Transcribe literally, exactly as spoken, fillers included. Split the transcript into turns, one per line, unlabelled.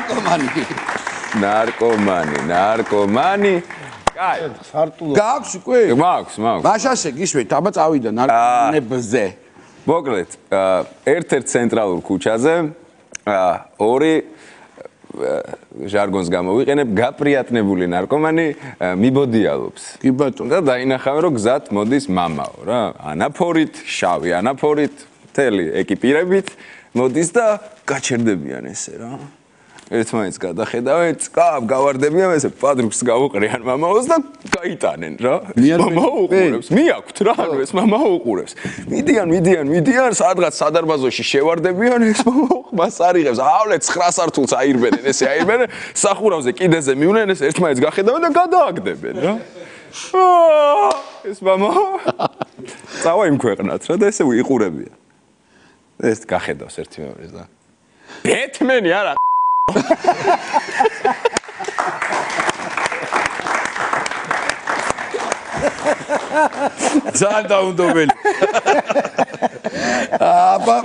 ნარკომანი.
ნარკომანი, ნარკომანი. კაი.
გაქვს უკვე?
მაქვს, მაქვს.
მაშასე გისვით, აბა წავიდა ნარკომანებზე.
მოკლედ, ერთ-ერთ ცენტრალურ ქუჩაზე ორი ჟარგონს გამოვიყენებ, გაპრიატნებული ნარკომანი მიბოდიალობს.
კი ბატონო.
და დაინახავენ, რომ გზად მოდის მამაო რა. ანაფორით, შავი ანაფორით, მთელი ეკიპირებით მოდის და გაჩერდებიან ესე რა. ერთმანეთს გადახედავენ, წკაბ გავარდებიან ესე პადრუქს გავუყრიან მამაოს და გაიტანენ რა. მამაო უყურებს, მიაქვთ რა, ანუ ეს მამაო უყურებს. მიდიან, მიდიან, მიდიან, სადღაც სადარბაზოში შევარდებიან, ეს მამაო მას არიღებს, ავლე ცხრა სართულს აირბენენ, ესე აირბენენ, სახურავზე კიდეზე მივნენ, ეს ერთმანეთს გახედავენ და გადააგდებენ რა. ეს მამაო წავა იმ ქვეყნად რა და ესე უიყურებიან. ეს გახედავს ერთი მეორეს და ბეთმენი არა
ძალიან დაუნდობელი. აბა